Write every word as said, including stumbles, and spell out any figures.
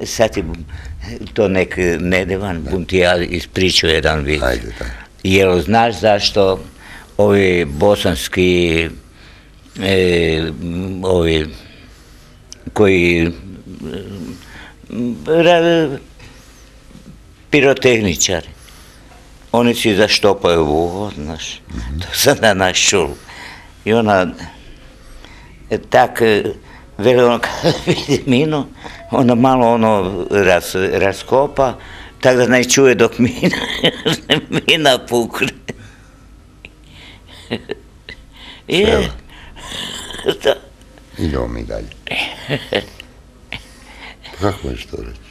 sad ti to nek nedevan, bum ti ja ispričao jedan vid. Ajde, da. Jer znaš zašto ovi bosanski, e, ovi koji ra, pirotehničari, oni si zaštopaju uho, znaš, mm-hmm. To sam na naš čul. I ona, tak, veli ono, kada vidi minu, onda malo ono raz, raskopa, tako da ne čuje dok mina, mina pukne. Je, da. Idemo mi dalje. Kako možeš to reći?